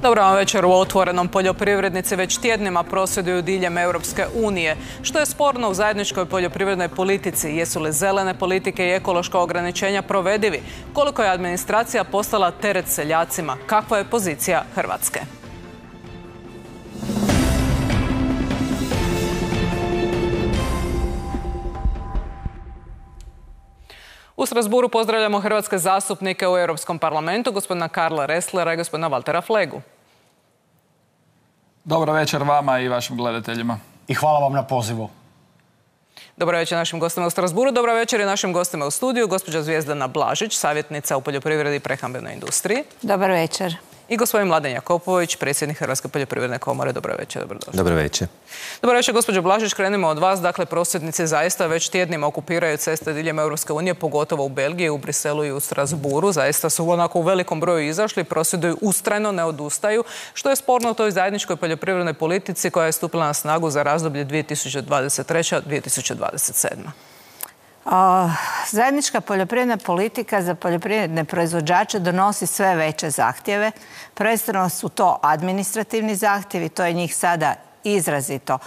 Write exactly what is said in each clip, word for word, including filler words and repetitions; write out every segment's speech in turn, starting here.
Dobro vam večer u Otvorenom. Poljoprivrednici već tjednima prosvjeduju diljem Europske unije. Što je sporno u zajedničkoj poljoprivrednoj politici? Jesu li zelene politike i ekološka ograničenja provedivi? Koliko je administracija postala teret seljacima? Kakva je pozicija Hrvatske? U Strasburu pozdravljamo hrvatske zastupnike u Europskom parlamentu, gospodina Karla Resslera i gospodina Valtera Flegu. Dobro večer vama i vašim gledateljima. I hvala vam na pozivu. Dobro večer našim gostima u Strasburu. Dobro večer i našim gostima u studiju. Gospođa Zvjezdana Blažić, savjetnica u poljoprivredi i prehrambenoj industriji. Dobar večer. I gospodin Mladen Jakopović, predsjednik Hrvatske poljoprivredne komore. Dobro večer, dobrodošli. Dobro večer. Dobro večer, gospođo Blažić, krenimo od vas. Dakle, prosvjednici zaista već tjednima okupiraju ceste diljem Europske unije, pogotovo u Belgiji, u Briselu i u Strasburu. Zaista su onako u velikom broju izašli, prosvjeduju ustrajno, ne odustaju. Što je sporno u toj zajedničkoj poljoprivrednoj politici koja je stupila na snagu za razdoblje dvije tisuće dvadeset treća do dvije tisuće dvadeset sedma? Zajednička poljoprivredna politika za poljoprivredne proizvođače donosi sve veće zahtjeve. Prvenstveno su to administrativni zahtjevi, to je njih sada izrazito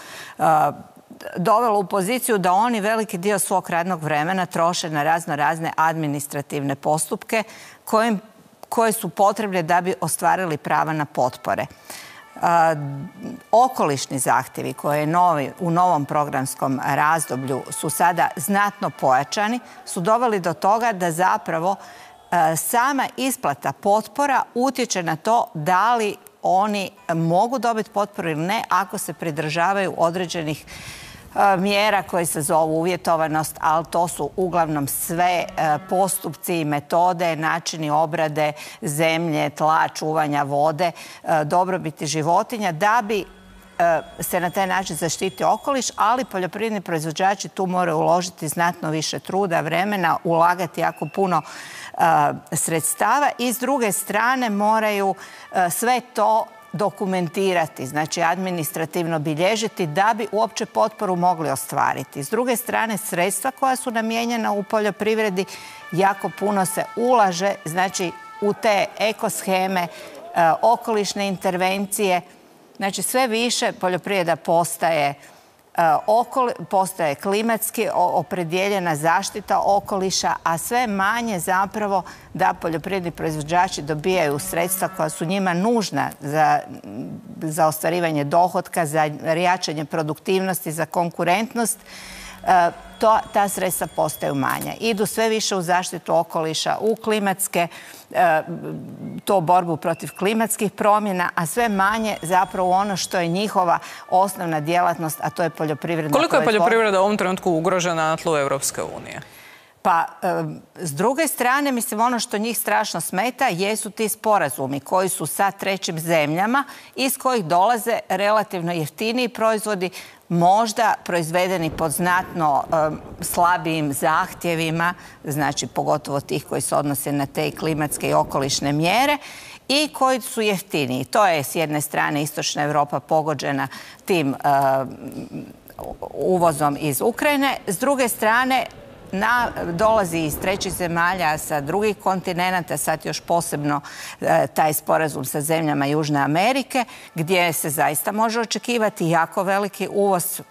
dovelo u poziciju da oni veliki dio svog radnog vremena troše na razno razne administrativne postupke koje su potrebne da bi ostvarili prava na potpore. Okolišni zahtjevi koje je u novom programskom razdoblju su sada znatno pojačani, su doveli do toga da zapravo sama isplata potpora utječe na to da li oni mogu dobiti potporu ili ne ako se pridržavaju određenih mjera koje se zovu uvjetovanost, ali to su uglavnom sve postupci, metode, načini obrade zemlje, tla, čuvanja vode, dobrobiti životinja, da bi se na taj način zaštiti okoliš, ali poljoprivredni proizvođači tu moraju uložiti znatno više truda, vremena, ulagati jako puno sredstava i s druge strane moraju sve to dokumentirati, znači administrativno bilježiti da bi uopće potporu mogli ostvariti. S druge strane, sredstva koja su namijenjena u poljoprivredi jako puno se ulaže, znači u te ekosheme, okolišne intervencije, znači sve više poljoprivreda postaje postaje klimatski opredjeljena zaštita okoliša, a sve manje zapravo da poljoprivredni proizvođači dobijaju sredstva koja su njima nužna za, za ostvarivanje dohotka, za jačanje produktivnosti, za konkurentnost. To, ta sredstva postaju manja. Idu sve više u zaštitu okoliša, u klimatske, to borbu protiv klimatskih promjena, a sve manje zapravo ono što je njihova osnovna djelatnost, a to je poljoprivredna proizvodnja. Koliko je poljoprivreda u ovom trenutku ugrožena na tlu Europske unije? Pa, s druge strane, mislim, ono što njih strašno smeta jesu ti sporazumi koji su sa trećim zemljama iz kojih dolaze relativno jeftiniji proizvodi, možda proizvedeni pod znatno slabijim zahtjevima, znači pogotovo tih koji se odnose na te klimatske i okolišne mjere i koji su jeftiniji. To je s jedne strane Istočna Europa pogođena tim uvozom iz Ukrajine, s druge strane Na, dolazi iz trećih zemalja sa drugih kontinenata, sad još posebno e, taj sporazum sa zemljama Južne Amerike, gdje se zaista može očekivati jako veliki uvoz.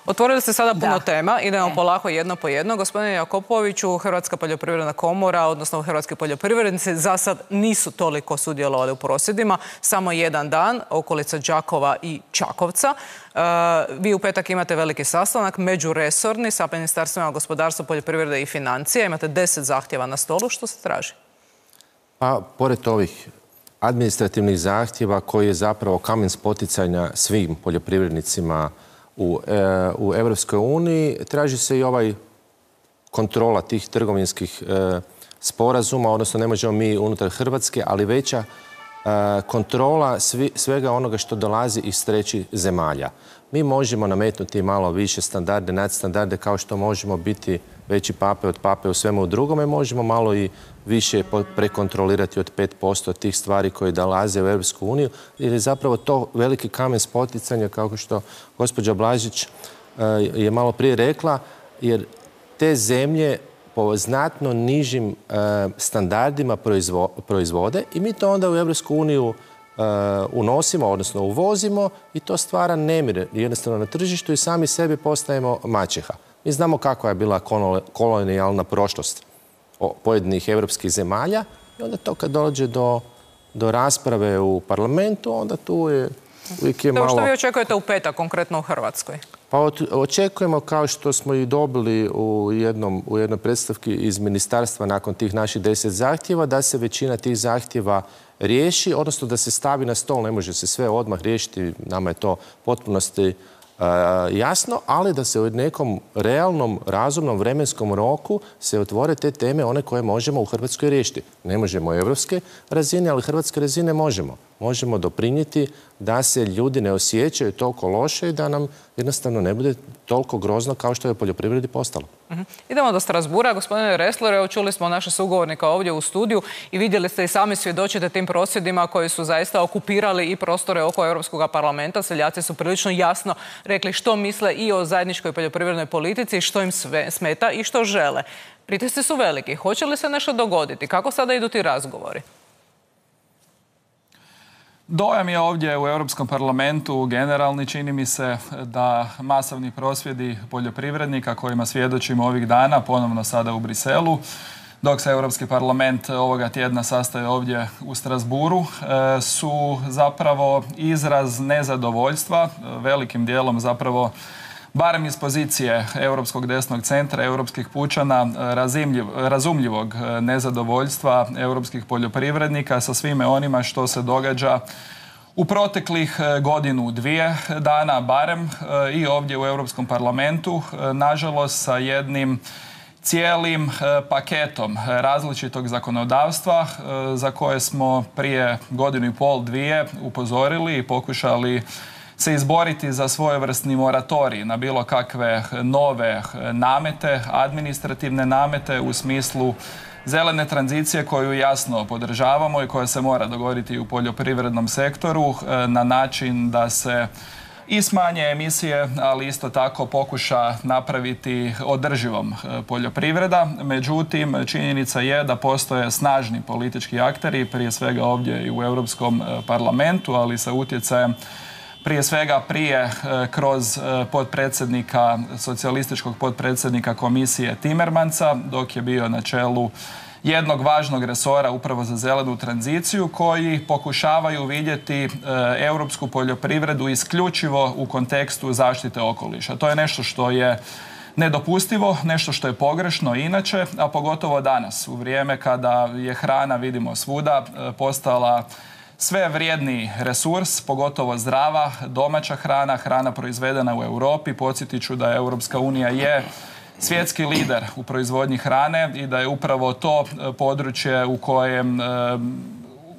Otvorili ste sada puno Da. tema, idemo E. polako jedno po jedno. Gospodine Jakopoviću, Hrvatska poljoprivredna komora, odnosno hrvatski poljoprivrednici, za sad nisu toliko sudjelovali u prosvjedima, samo jedan dan, okolica Đakova i Čakovca. E, vi u petak imate veliki sastanak, međuresorni, sa ministarstvima gospodarstva, poljoprivrede i financija. Imate deset zahtjeva na stolu. Što se traži? Pa, pored ovih administrativnih zahtjeva koji je zapravo kamen spoticanja svim poljoprivrednicima u, e, u Europskoj uniji, traži se i ovaj kontrola tih trgovinskih e, sporazuma, odnosno ne možemo mi unutar Hrvatske, ali veća e, kontrola svi, svega onoga što dolazi iz trećih zemalja. Mi možemo nametnuti malo više standarde, nadstandarde, kao što možemo biti veći pape od pape u svemu drugome, možemo malo i više prekontrolirati od pet posto tih stvari koje dolaze u Europsku uniju, jer je zapravo to veliki kamen spoticanja, kao što gospođa Blažić je malo prije rekla, jer te zemlje po znatno nižim standardima proizvode i mi to onda u Europsku uniju unosimo, odnosno uvozimo i to stvara nemir jednostavno na tržištu i sami sebi postajemo maćeha. Mi znamo kakva je bila kolonijalna prošlost pojedinih evropskih zemalja i onda to kad dođe do, do rasprave u parlamentu, onda tu je uvijek je malo... Što vi očekujete u petak, konkretno u Hrvatskoj? Pa očekujemo, kao što smo i dobili u, jednom, u jednoj predstavki iz ministarstva nakon tih naših deset zahtjeva, da se većina tih zahtjeva riješi, odnosno da se stavi na stol. Ne može se sve odmah riješiti, nama je to potpunosti uh, jasno, ali da se u nekom realnom, razumnom vremenskom roku se otvore te teme, one koje možemo u Hrvatskoj riješiti. Ne možemo evropske razine, ali hrvatske razine možemo. Možemo doprinijeti da se ljudi ne osjećaju toliko loše i da nam jednostavno ne bude toliko grozno kao što je u poljoprivredi postalo. Uh-huh. Idemo do Strasbura. Gospodine Ressler, evo čuli smo naše sugovornika ovdje u studiju i vidjeli ste i sami svjedočite tim prosvjedima koji su zaista okupirali i prostore oko Europskog parlamenta. Seljaci su prilično jasno rekli što misle i o zajedničkoj poljoprivrednoj politici, što im sve smeta i što žele. Pritisci su veliki. Hoće li se nešto dogoditi? Kako sada idu ti razgovori? Dojam je ovdje u Europskom parlamentu generalni, čini mi se da masovni prosvjedi poljoprivrednika kojima svjedočimo ovih dana, ponovno sada u Briselu, dok se Europski parlament ovoga tjedna sastaje ovdje u Strasburu, su zapravo izraz nezadovoljstva, velikim dijelom zapravo barem iz pozicije Europskog desnog centra, europskih pučana, razumljivog nezadovoljstva europskih poljoprivrednika sa svime onima što se događa u proteklih godinu, dvije dana, barem i ovdje u Europskom parlamentu, nažalost sa jednim cijelim paketom različitog zakonodavstva za koje smo prije godinu i pol, dvije upozorili i pokušali se izboriti za svojevrsni moratorij na bilo kakve nove namete, administrativne namete u smislu zelene tranzicije koju jasno podržavamo i koja se mora dogoditi u poljoprivrednom sektoru na način da se i smanje emisije, ali isto tako pokuša napraviti održivom poljoprivreda. Međutim, činjenica je da postoje snažni politički akteri, prije svega ovdje i u Europskom parlamentu, ali sa utjecajem prije svega prije kroz potpredsjednika, socijalističkog potpredsjednika komisije Timmermansa, dok je bio na čelu jednog važnog resora upravo za zelenu tranziciju, koji pokušavaju vidjeti europsku poljoprivredu isključivo u kontekstu zaštite okoliša. To je nešto što je nedopustivo, nešto što je pogrešno inače, a pogotovo danas, u vrijeme kada je hrana, vidimo svuda, postala sve vrijedniji resurs, pogotovo zdrava, domaća hrana, hrana proizvedena u Europi. Podsjetit ću da Europska unija je svjetski lider u proizvodnji hrane i da je upravo to područje u kojem,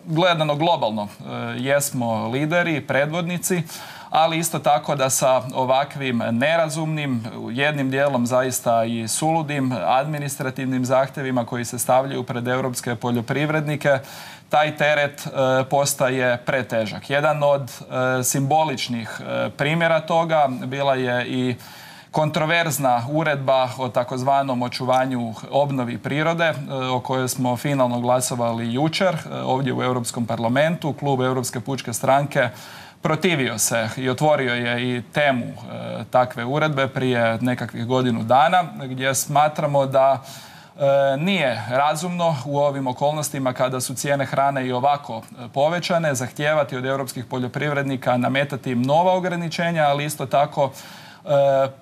gledano globalno, jesmo lideri, predvodnici, ali isto tako da sa ovakvim nerazumnim, jednim dijelom zaista i suludim administrativnim zahtjevima koji se stavljaju pred europske poljoprivrednike, taj teret e, postaje pretežak. Jedan od e, simboličnih e, primjera toga bila je i kontroverzna uredba o takozvanom očuvanju obnovi prirode, e, o kojoj smo finalno glasovali jučer e, ovdje u Europskom parlamentu. Klub Europske pučke stranke protivio se i otvorio je i temu e, takve uredbe prije nekakvih godinu dana, gdje smatramo da E, nije razumno u ovim okolnostima kada su cijene hrane i ovako povećane, zahtijevati od europskih poljoprivrednika, nametati im nova ograničenja, ali isto tako e,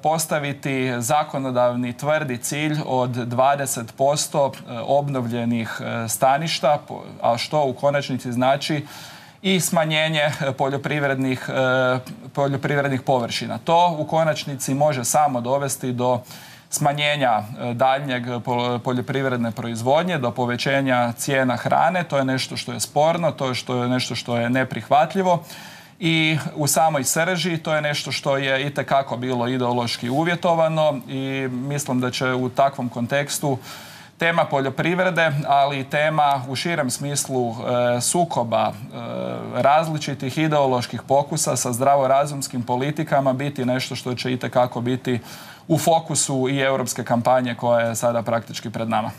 postaviti zakonodavni tvrdi cilj od dvadeset posto obnovljenih staništa, a što u konačnici znači i smanjenje poljoprivrednih, e, poljoprivrednih površina. To u konačnici može samo dovesti do smanjenja daljnjeg poljoprivredne proizvodnje, do povećanja cijena hrane. To je nešto što je sporno, to je, što je nešto što je neprihvatljivo i u samoj srži to je nešto što je itekako bilo ideološki uvjetovano i mislim da će u takvom kontekstu tema poljoprivrede, ali i tema u širem smislu e, sukoba e, različitih ideoloških pokusa sa zdravorazumskim politikama biti nešto što će itekako biti u fokusu i europske kampanje koja je sada praktički pred nama.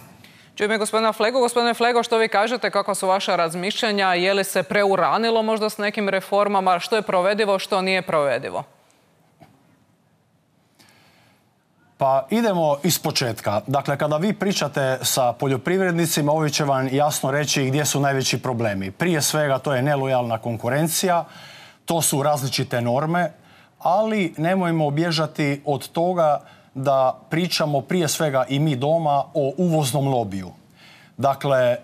Čujem gospodina Flego. Gospodine Flego, što vi kažete, kakva su vaša razmišljanja? Je li se preuranilo možda s nekim reformama? Što je provedivo, što nije provedivo? Pa idemo iz početka. Dakle, kada vi pričate sa poljoprivrednicima, ovi će vam jasno reći gdje su najveći problemi. Prije svega to je nelojalna konkurencija, to su različite norme, ali nemojmo bježati od toga da pričamo prije svega i mi doma o uvoznom lobiju. Dakle,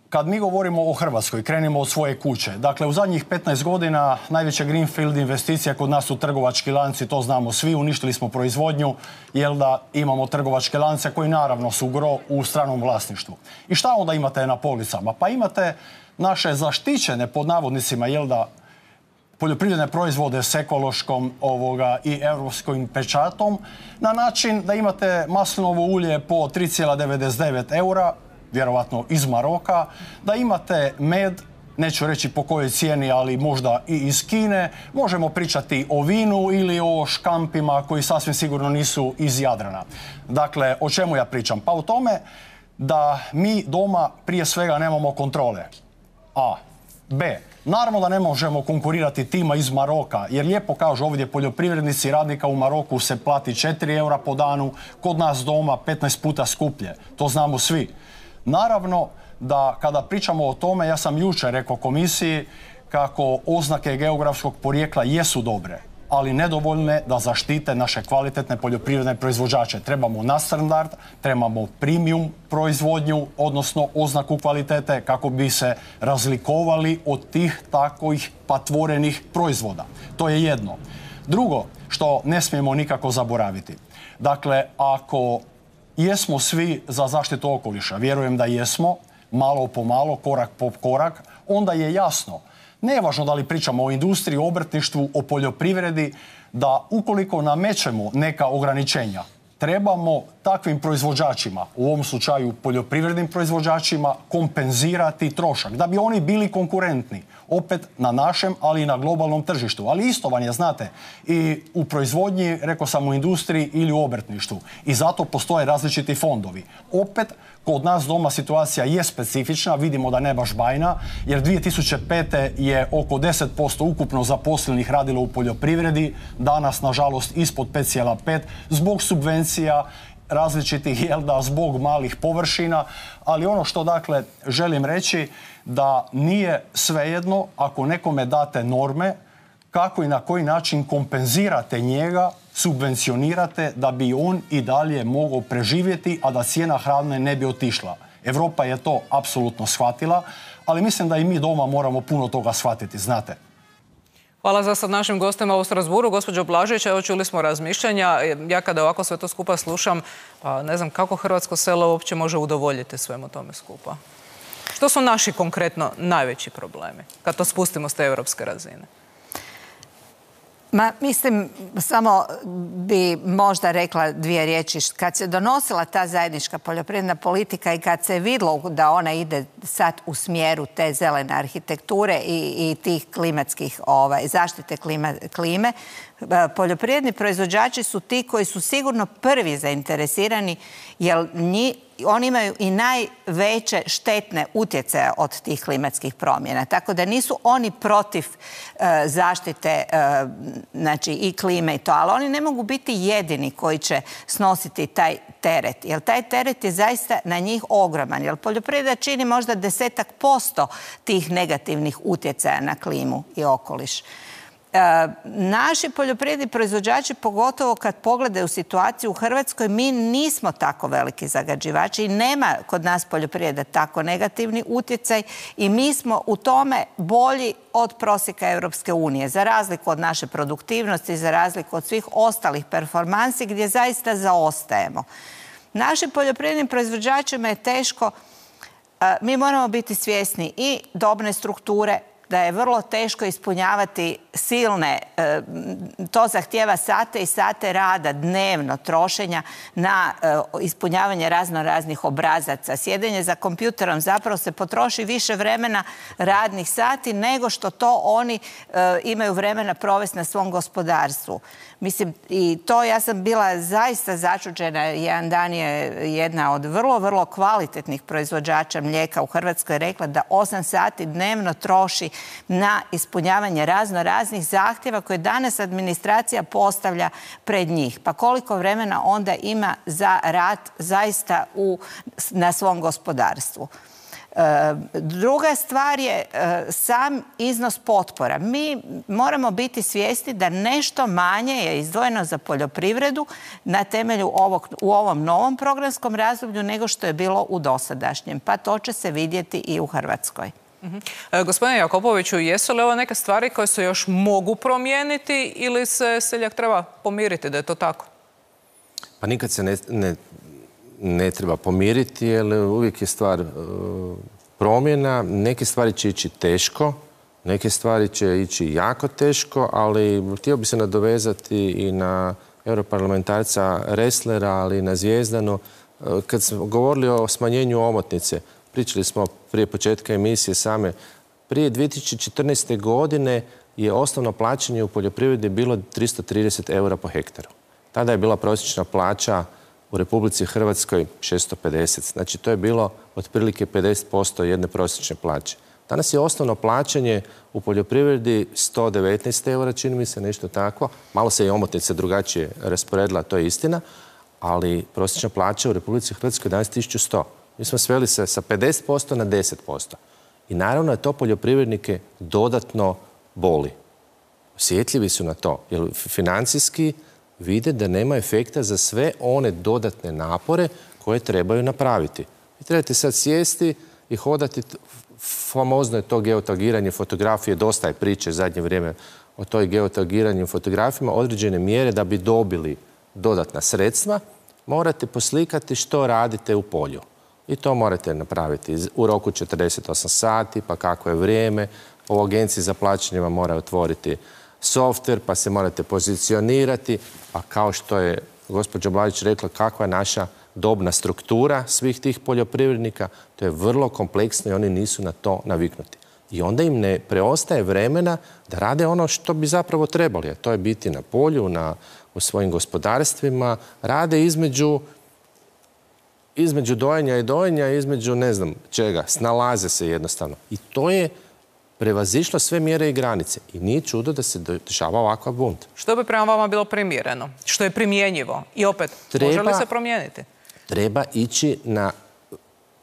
kad mi govorimo o Hrvatskoj, krenimo od svoje kuće. Dakle, u zadnjih petnaest godina najveća greenfield investicija kod nas su trgovački lanci, to znamo svi, uništili smo proizvodnju, jer da imamo trgovačke lance koji naravno su gro u stranom vlasništvu. I šta onda imate na policama? Pa imate naše zaštićene, pod navodnicima, jel da, poljoprivredne proizvode s ekološkom ovoga, i europskim pečatom, na način da imate maslinovo ulje po tri zarez devedeset devet eura, vjerovatno iz Maroka, da imate med, neću reći po kojoj cijeni, ali možda i iz Kine, možemo pričati o vinu ili o škampima koji sasvim sigurno nisu iz Jadrana. Dakle, o čemu ja pričam? Pa o tome da mi doma prije svega nemamo kontrole. A. B. Naravno da ne možemo konkurirati tima iz Maroka, jer lijepo kažu ovdje poljoprivrednici, radnika u Maroku se plati četiri eura po danu, kod nas doma petnaest puta skuplje. To znamo svi. Naravno da kada pričamo o tome, ja sam jučer rekao komisiji kako oznake geografskog porijekla jesu dobre, ali nedovoljne da zaštite naše kvalitetne poljoprivredne proizvođače. Trebamo nadstandard, trebamo premium proizvodnju, odnosno oznaku kvalitete kako bi se razlikovali od tih takvih patvorenih proizvoda. To je jedno. Drugo, što ne smijemo nikako zaboraviti. Dakle, ako jesmo svi za zaštitu okoliša, vjerujem da jesmo, malo po malo, korak po korak, onda je jasno, nevažno da li pričamo o industriji, o obrtništvu, o poljoprivredi, da ukoliko namećemo neka ograničenja, trebamo takvim proizvođačima, u ovom slučaju poljoprivrednim proizvođačima, kompenzirati trošak, da bi oni bili konkurentni, opet na našem, ali i na globalnom tržištu. Ali isto vam je, znate, i u proizvodnji, rekao sam, u industriji ili u obrtništvu. I zato postoje različiti fondovi. Opet, kod nas doma situacija je specifična, vidimo da ne baš bajna, jer dvije tisuće pete. je oko deset posto ukupno zaposlenih radilo u poljoprivredi, danas, nažalost, ispod pet zarez pet zbog subvencija različitih, jel da, zbog malih površina, ali ono što, dakle, želim reći da nije svejedno ako nekome date norme, kako i na koji način kompenzirate njega, subvencionirate da bi on i dalje mogao preživjeti, a da cijena hrane ne bi otišla. Europa je to apsolutno shvatila, ali mislim da i mi doma moramo puno toga shvatiti, znate. Hvala za sad našim gostima u Strasburu. Gospođo Blažević, evo čuli smo razmišljanja. Ja kada ovako sve to skupa slušam, pa ne znam kako hrvatsko selo uopće može udovoljiti svemu tome skupa. Što su naši konkretno najveći problemi kad to spustimo s te europske razine? Ma, mislim, samo bi možda rekla dvije riječi. Kad se donosila ta zajednička poljoprivredna politika i kad se vidlo da ona ide sad u smjeru te zelene arhitekture i, i tih klimatskih ovaj, zaštite klima, klime, poljoprivredni proizvođači su ti koji su sigurno prvi zainteresirani, jer njih oni imaju i najveće štetne utjecaje od tih klimatskih promjena. Tako da nisu oni protiv e, zaštite e, znači i klime i to, ali oni ne mogu biti jedini koji će snositi taj teret. Jer taj teret je zaista na njih ogroman. Jer poljoprivreda čini možda desetak posto tih negativnih utjecaja na klimu i okoliš. E, naši poljoprivredni proizvođači, pogotovo kad pogledaju situaciju u Hrvatskoj, mi nismo tako veliki zagađivači i nema kod nas poljoprivreda tako negativni utjecaj i mi smo u tome bolji od prosjeka Europske unije, za razliku od naše produktivnosti, za razliku od svih ostalih performansi gdje zaista zaostajemo. Našim poljoprivrednim proizvođačima je teško. Mi moramo biti svjesni i dobne strukture, da je vrlo teško ispunjavati silne, to zahtijeva sate i sate rada dnevno, trošenja na ispunjavanje razno raznih obrazaca. Sjedenje za kompjuterom zapravo se potroši više vremena radnih sati nego što to oni imaju vremena provesti na svom gospodarstvu. Mislim, i to ja sam bila zaista začuđena. Jedan dan je jedna od vrlo, vrlo kvalitetnih proizvođača mlijeka u Hrvatskoj rekla da osam sati dnevno troši na ispunjavanje razno raznih zahtjeva koje danas administracija postavlja pred njih. Pa koliko vremena onda ima za rad zaista u, na svom gospodarstvu? Druga stvar je sam iznos potpora. Mi moramo biti svjesni da nešto manje je izdvojeno za poljoprivredu na temelju ovog, u ovom novom programskom razdoblju nego što je bilo u dosadašnjem. Pa to će se vidjeti i u Hrvatskoj. Uh-huh. e, gospodine Jakopoviću, jesu li ovo neke stvari koje se još mogu promijeniti ili se seljak treba pomiriti da je to tako? Pa nikad se ne... ne... ne treba pomiriti, jer uvijek je stvar uh, promjena. Neke stvari će ići teško, neke stvari će ići jako teško, ali htio bi se nadovezati i na europarlamentarca Resslera, ali i na Zvijezdanu. Uh, kad smo govorili o smanjenju omotnice, pričali smo prije početka emisije same, prije dvije tisuće četrnaeste. godine je osnovno plaćanje u poljoprivredi bilo tristo trideset eura po hektaru. Tada je bila prosječna plaća u Republici Hrvatskoj šesto pedeset. Znači, to je bilo otprilike pedeset posto jedne prosječne plaće. Danas je osnovno plaćanje u poljoprivredi sto devetnaest eura, čini mi se nešto takvo. Malo se i omotnica drugačije rasporedila, to je istina, ali prosječna plaća u Republici Hrvatskoj je danas tisuću sto. Mi smo sveli se sa pedeset posto na deset posto. I naravno je to poljoprivrednike dodatno boli. Osjetljivi su na to, jer financijski vide da nema efekta za sve one dodatne napore koje trebaju napraviti. Vi trebate sad sjesti i hodati, famozno je to geotagiranje fotografije, dosta je priče zadnje vrijeme o toj geotagiranju fotografijama, određene mjere da bi dobili dodatna sredstva, morate poslikati što radite u polju. I to morate napraviti u roku četrdeset osam sati, pa kako je vrijeme. U agenciji za plaćanje vam mora otvoriti softver, pa se morate pozicionirati, a kao što je gospođa Blažić rekla, kakva je naša dobna struktura svih tih poljoprivrednika, to je vrlo kompleksno i oni nisu na to naviknuti. I onda im ne preostaje vremena da rade ono što bi zapravo trebali, a to je biti na polju, na, u svojim gospodarstvima, rade između, između dojenja i dojenja, između ne znam čega, snalaze se jednostavno. I to je prevazišlo sve mjere i granice. I nije čudo da se dešava ovakav bunt. Što bi prema vama bilo primjereno? Što je primjenjivo? I opet, treba, može li se promijeniti? Treba ići na...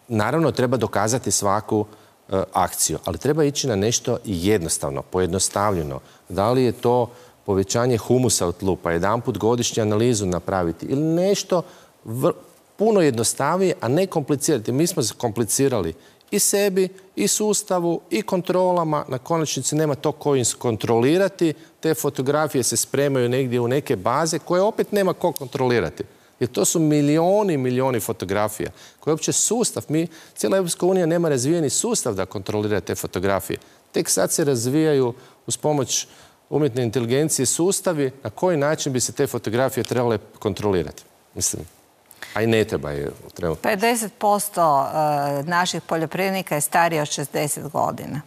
Naravno, treba dokazati svaku uh, akciju, ali treba ići na nešto jednostavno, pojednostavljeno. Da li je to povećanje humusa u tlu, pa jedan put godišnju analizu napraviti ili nešto vr... puno jednostavnije, a ne komplicirati. Mi smo komplicirali i sebi, i sustavu, i kontrolama. Na konačnici nema to ko im kontrolirati. Te fotografije se spremaju negdje u neke baze koje opet nema ko kontrolirati. Jer to su milioni, milioni fotografija koje uopće sustav, mi, cijela Europska unija nema razvijeni sustav da kontrolira te fotografije. Tek sad se razvijaju uz pomoć umjetne inteligencije sustavi na koji način bi se te fotografije trebale kontrolirati. Mislim, a i ne treba je trenutno. pedeset posto naših poljoprivrednika je starije od šezdeset godina.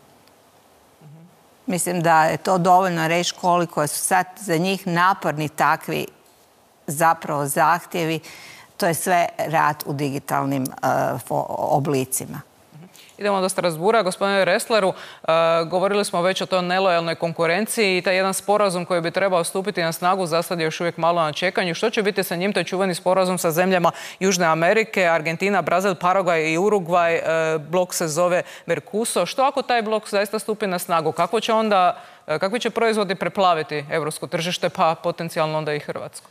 Mislim da je to dovoljno reći koliko su sad za njih naporni takvi zapravo zahtjevi. To je sve rad u digitalnim uh, oblicima. Idemo do Strasbura. Gospodine Ressleru, uh, govorili smo već o toj nelojalnoj konkurenciji i taj jedan sporazum koji bi trebao stupiti na snagu za sad je još uvijek malo na čekanju. Što će biti sa njim? To je čuveni sporazum sa zemljama Južne Amerike, Argentina, Brazil, Paragvaj i Urugvaj. Uh, blok se zove Mercosur. Što ako taj blok zaista stupi na snagu? Kako će onda, uh, kakvi će proizvodi preplaviti europsko tržište, pa potencijalno onda i Hrvatsku?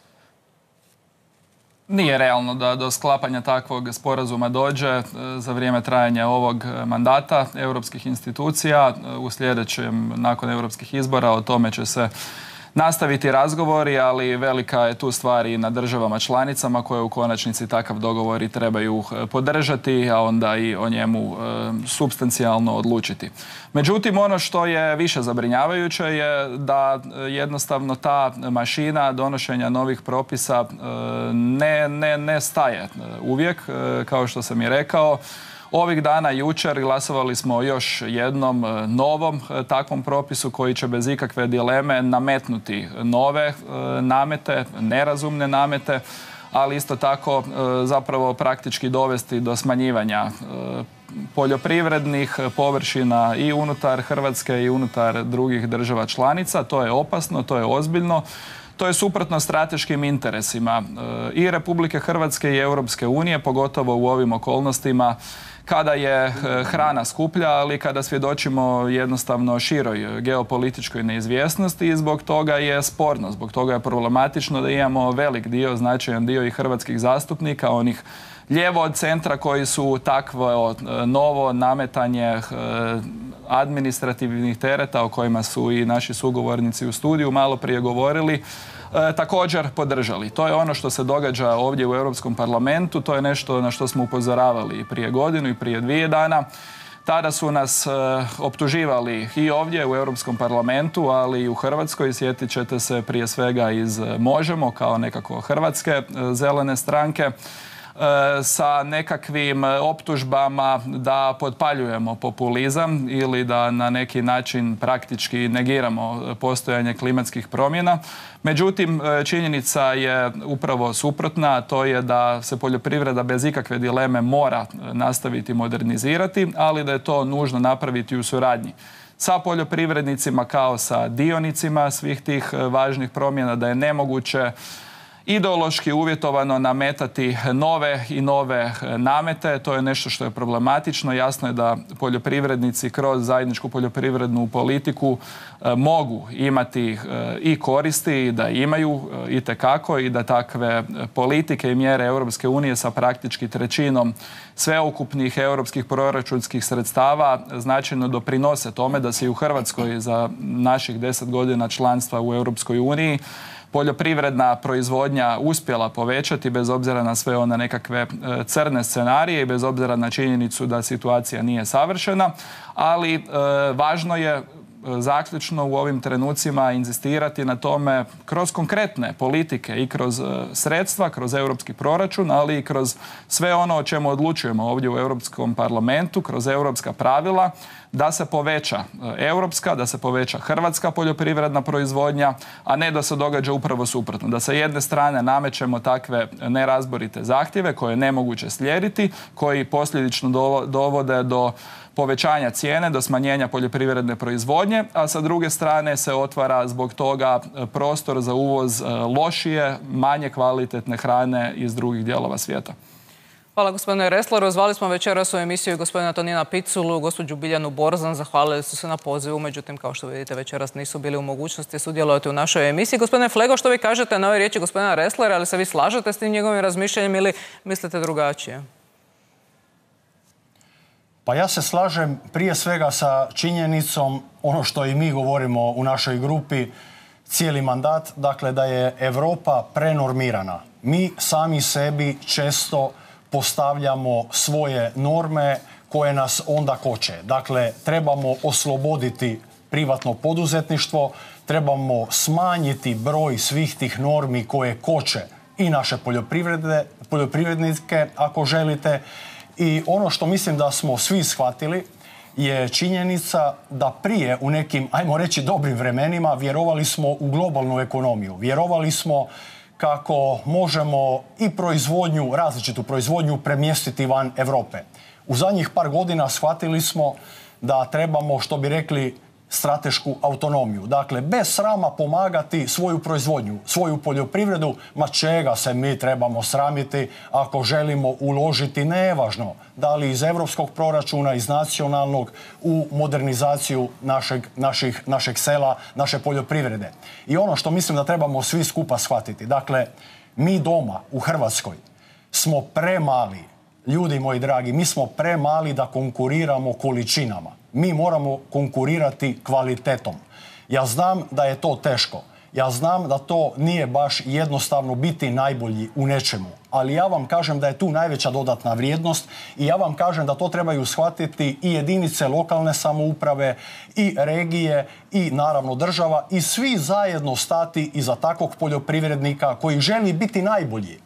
Nije realno da do sklapanja takvog sporazuma dođe za vrijeme trajanja ovog mandata europskih institucija. U sljedećem, nakon europskih izbora, o tome će se nastaviti razgovori, ali velika je tu stvar i na državama članicama koje u konačnici takav dogovor i trebaju podržati, a onda i o njemu e, supstancijalno odlučiti. Međutim, ono što je više zabrinjavajuće je da jednostavno ta mašina donošenja novih propisa e, ne, ne, ne staje uvijek, e, kao što sam i rekao. Ovih dana, jučer, glasovali smo o još jednom novom takvom propisu koji će bez ikakve dileme nametnuti nove namete, nerazumne namete, ali isto tako zapravo praktički dovesti do smanjivanja poljoprivrednih površina i unutar Hrvatske i unutar drugih država članica. To je opasno, to je ozbiljno. To je suprotno strateškim interesima i Republike Hrvatske i Europske unije, pogotovo u ovim okolnostima kada je hrana skuplja, ali kada svjedočimo jednostavno široj geopolitičkoj neizvjesnosti i zbog toga je sporno, zbog toga je problematično da imamo velik dio, značajan dio i hrvatskih zastupnika, onih lijevo od centra koji su takvo novo nametanje administrativnih tereta o kojima su i naši sugovornici u studiju malo prije govorili, E, također podržali. To je ono što se događa ovdje u Europskom parlamentu, to je nešto na što smo upozoravali i prije godinu i prije dvije dana. Tada su nas e, optuživali i ovdje u Europskom parlamentu, ali i u Hrvatskoj. Sjetit ćete se prije svega iz Možemo, kao nekako hrvatske e, zelene stranke, sa nekakvim optužbama da potpaljujemo populizam ili da na neki način praktički negiramo postojanje klimatskih promjena. Međutim, činjenica je upravo suprotna, to je da se poljoprivreda bez ikakve dileme mora nastaviti modernizirati, ali da je to nužno napraviti u suradnji sa poljoprivrednicima kao sa dionicima svih tih važnih promjena, da je nemoguće ideološki uvjetovano nametati nove i nove namete. To je nešto što je problematično. Jasno je da poljoprivrednici kroz zajedničku poljoprivrednu politiku e, mogu imati e, i koristi, da imaju e, itekako i da takve politike i mjere Europske unije sa praktički trećinom sveukupnih europskih proračunskih sredstava značajno doprinose tome da se i u Hrvatskoj za naših deset godina članstva u Europskoj uniji poljoprivredna proizvodnja uspjela povećati bez obzira na sve one nekakve crne scenarije i bez obzira na činjenicu da situacija nije savršena, ali e, važno je zaključno u ovim trenucima inzistirati na tome kroz konkretne politike i kroz sredstva, kroz europski proračun, ali i kroz sve ono o čemu odlučujemo ovdje u Europskom parlamentu, kroz europska pravila, da se poveća europska, da se poveća hrvatska poljoprivredna proizvodnja, a ne da se događa upravo suprotno. Da sa jedne strane namećemo takve nerazborite zahtjeve koje je nemoguće slijediti, koji posljedično dovode do povećanja cijene, do smanjenja poljoprivredne proizvodnje, a sa druge strane se otvara zbog toga prostor za uvoz lošije, manje kvalitetne hrane iz drugih dijelova svijeta. Hvala gospodine Ressleru. Zvali smo večeras u emisiju gospodina Tonina Piculu, gospođu Biljanu Borzan. Zahvalili su se na pozivu, međutim, kao što vidite, večeras nisu bili u mogućnosti sudjelovati u našoj emisiji. Gospodine Flego, što vi kažete na ove riječi gospodina Resslera, ali se vi slažete s tim njegovim razmišljanjem ili mislite drugačije? Pa ja se slažem prije svega sa činjenicom, ono što i mi govorimo u našoj grupi cijeli mandat, dakle da je Europa prenormirana. Mi sami sebi često postavljamo svoje norme koje nas onda koče. Dakle, trebamo osloboditi privatno poduzetništvo, trebamo smanjiti broj svih tih normi koje koče i naše poljoprivrednike, ako želite. I ono što mislim da smo svi shvatili je činjenica da prije u nekim, ajmo reći, dobrim vremenima vjerovali smo u globalnu ekonomiju. Vjerovali smo kako možemo i proizvodnju, različitu proizvodnju premjestiti van Europe. U zadnjih par godina shvatili smo da trebamo, što bi rekli, stratešku autonomiju. Dakle, bez srama pomagati svoju proizvodnju, svoju poljoprivredu, ma čega se mi trebamo sramiti ako želimo uložiti, nevažno, da li iz europskog proračuna, iz nacionalnog, u modernizaciju našeg, naših, našeg sela, naše poljoprivrede. I ono što mislim da trebamo svi skupa shvatiti, dakle, mi doma u Hrvatskoj smo premali, ljudi moji dragi, mi smo premali da konkuriramo količinama. Mi moramo konkurirati kvalitetom. Ja znam da je to teško. Ja znam da to nije baš jednostavno biti najbolji u nečemu, ali ja vam kažem da je tu najveća dodatna vrijednost i ja vam kažem da to trebaju shvatiti i jedinice lokalne samouprave, i regije, i naravno država, i svi zajedno stati iza takvog poljoprivrednika koji želi biti najbolji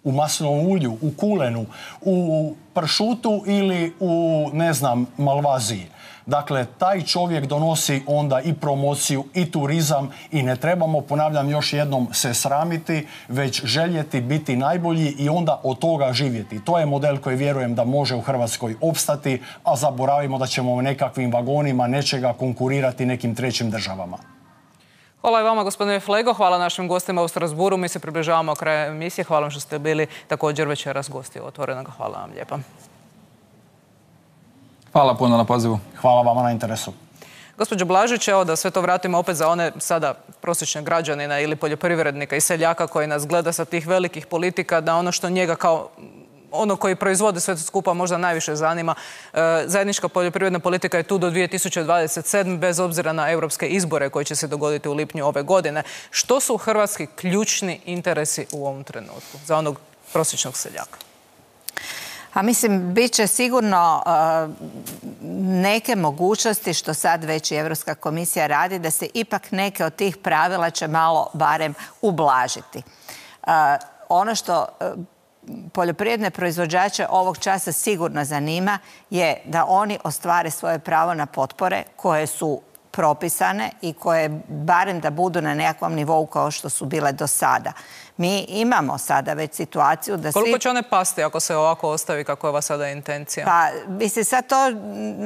u maslinovom ulju, u kulenu, u pršutu ili u, ne znam, malvaziji. Dakle, taj čovjek donosi onda i promociju i turizam i ne trebamo, ponavljam još jednom, se sramiti, već željeti biti najbolji i onda od toga živjeti. To je model koji vjerujem da može u Hrvatskoj opstati, a zaboravimo da ćemo u nekakvim vagonima nečega konkurirati nekim trećim državama. Hvala i vama, gospodine Flego. Hvala našim gostima u Strasburu. Mi se približavamo kraju emisije. Hvala vam što ste bili također večeras gosti Otvorenog. Hvala vam lijepa. Hvala puno na pozivu. Hvala vama na interesu. Gospođo Blažić, evo da sve to vratimo opet za one sada prosječne građanina ili poljoprivrednika i seljaka koji nas gleda sa tih velikih politika, da ono što njega kao ono koji proizvode sve to skupa možda najviše zanima. Zajednička poljoprivredna politika je tu do dvije tisuće dvadeset sedme. bez obzira na europske izbore koji će se dogoditi u lipnju ove godine. Što su hrvatski ključni interesi u ovom trenutku za onog prosječnog seljaka? A mislim, bit će sigurno uh, neke mogućnosti, što sad već i Europska komisija radi, da se ipak neke od tih pravila će malo barem ublažiti. Uh, ono što uh, poljoprivredne proizvođače ovog časa sigurno zanima je da oni ostvare svoje pravo na potpore koje su propisane i koje barem da budu na nekakvom nivou kao što su bile do sada. Mi imamo sada već situaciju da svi... Koliko će one pasti ako se ovako ostavi kako je ova sada intencija? Pa, mislim, sad to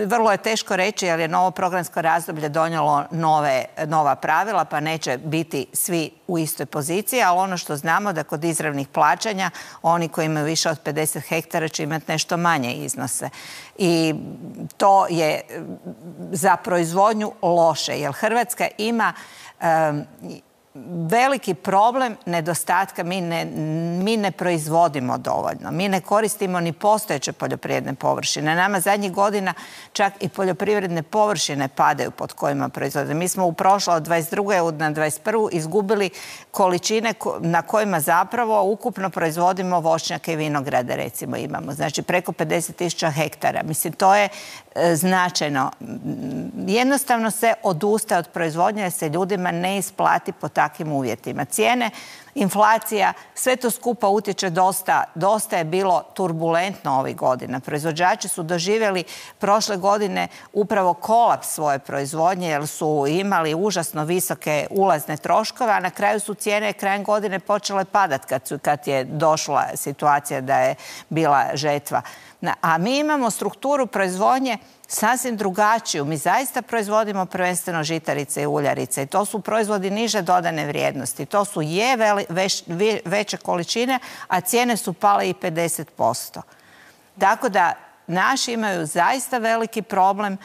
vrlo je teško reći jer je novo programsko razdoblje donijelo nove, nova pravila pa neće biti svi u istoj poziciji, ali ono što znamo da kod izravnih plaćanja oni koji imaju više od pedeset hektara će imati nešto manje iznose. I to je za proizvodnju loše jer Hrvatska ima... Um, veliki problem nedostatka, mi ne, mi ne proizvodimo dovoljno. Mi ne koristimo ni postojeće poljoprivredne površine. Nama zadnjih godina čak i poljoprivredne površine padaju pod kojima proizvodimo. Mi smo u prošlo od dvadeset druge na dvadeset prvu izgubili količine na kojima zapravo ukupno proizvodimo voćnjake i vinograde, recimo imamo. Znači preko pedeset tisuća hektara. Mislim, to je e, značajno. Jednostavno se odustaje od proizvodnje jer se ljudima ne isplati po takvim uvjetima. Cijene, inflacija, sve to skupa utječe dosta, dosta je bilo turbulentno ovih godina. Proizvođači su doživjeli prošle godine upravo kolaps svoje proizvodnje jer su imali užasno visoke ulazne troškove, a na kraju su cijene krajem godine počele padati kad, su, kad je došla situacija da je bila žetva. A mi imamo strukturu proizvodnje sasvim drugačiju. Mi zaista proizvodimo prvenstveno žitarice i uljarice i to su proizvodi niže dodane vrijednosti. To su je veli, već, veće količine, a cijene su pale i pedeset posto. Tako da naši imaju zaista veliki problem.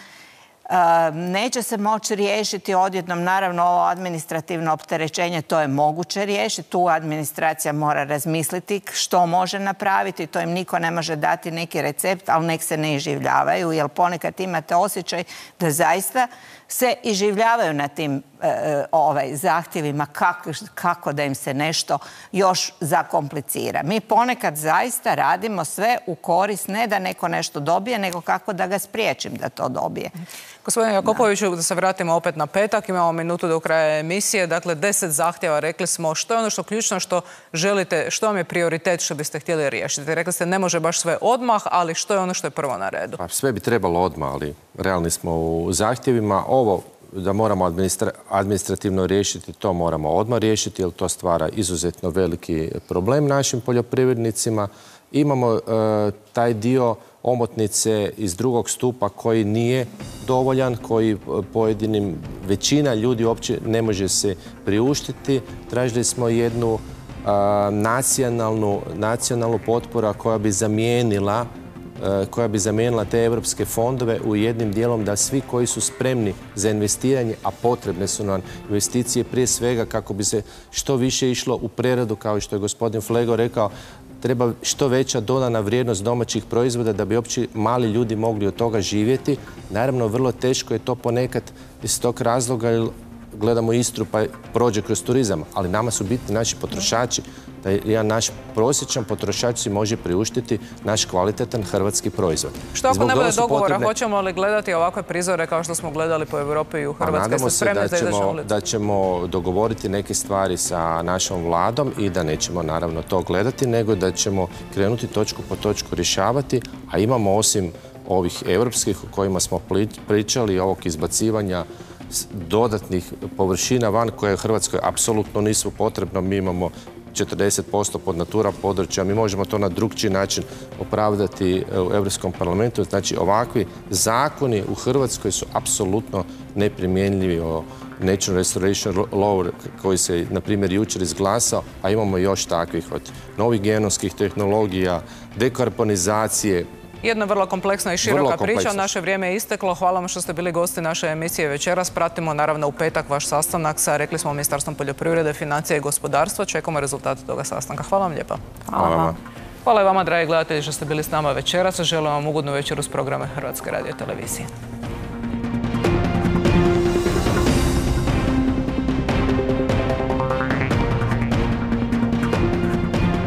Neće se moći riješiti odjednom, naravno ovo administrativno opterećenje, to je moguće riješiti, tu administracija mora razmisliti što može napraviti, to im niko ne može dati neki recept, ali nek se ne iživljavaju, jer ponekad imate osjećaj da zaista se iživljavaju na tim e, ovaj, zahtjevima kako, kako da im se nešto još zakomplicira. Mi ponekad zaista radimo sve u korist, ne da neko nešto dobije, nego kako da ga spriječim da to dobije. Gospodine Jakopoviću, da se vratimo opet na petak, imamo minutu do kraja emisije, dakle deset zahtjeva, rekli smo što je ono što ključno što želite, što vam je prioritet što biste htjeli riješiti. Rekli ste ne može baš sve odmah, ali što je ono što je prvo na redu? Pa sve bi trebalo odmah, ali realni smo u zahtjevima. Ovo da moramo administra administrativno riješiti, to moramo odmah riješiti, jer to stvara izuzetno veliki problem našim poljoprivrednicima. Imamo e, taj dio omotnice iz drugog stupa koji nije dovoljan, koji pojedinim većina ljudi uopće ne može se priuštiti. Tražili smo jednu a, nacionalnu, nacionalnu potporu koja bi zamijenila koja bi zamijenila te evropske fondove u jednim dijelom da svi koji su spremni za investiranje, a potrebne su nam investicije prije svega kako bi se što više išlo u preradu, kao što je gospodin Flego rekao, treba što veća dodana vrijednost domaćih proizvoda da bi uopće mali ljudi mogli od toga živjeti. Naravno, vrlo teško je to ponekad iz tog razloga, jer gledamo Istru pa prođe kroz turizam, ali nama su bitni naši potrošači, da jedan naš prosječan potrošač si može priuštiti naš kvalitetan hrvatski proizvod. Što ako ne bude dogovora, hoćemo li gledati ovakve prizore kao što smo gledali po Europi i u Hrvatskoj? Nadamo se da ćemo, da ćemo dogovoriti neke stvari sa našom vladom i da nećemo naravno to gledati, nego da ćemo krenuti točku po točku rješavati, a imamo osim ovih europskih o kojima smo pričali, ovog izbacivanja dodatnih površina van koje u Hrvatskoj apsolutno nisu potrebno. Mi imamo četrdeset posto pod natura područja, mi možemo to na drugčiji način opravdati u Europskom parlamentu. Znači, ovakvi zakoni u Hrvatskoj su apsolutno neprimjenljivi o National Restoration Law koji se, na primjer, jučer izglasao, a imamo još takvih od novih genomskih tehnologija, dekarbonizacije. Jedna vrlo kompleksna i široka priča. Naše vrijeme je isteklo. Hvala vam što ste bili gosti naše emisije večeras. Pratimo naravno u petak vaš sastanak sa, rekli smo, Ministarstvom poljoprivrede, financija i gospodarstva. Čekamo rezultate toga sastanka. Hvala vam lijepa. Hvala vam. Hvala i vama, dragi gledatelji, što ste bili s nama večeras. Želim vam ugodnu večeru s programe Hrvatske radiotelevizije.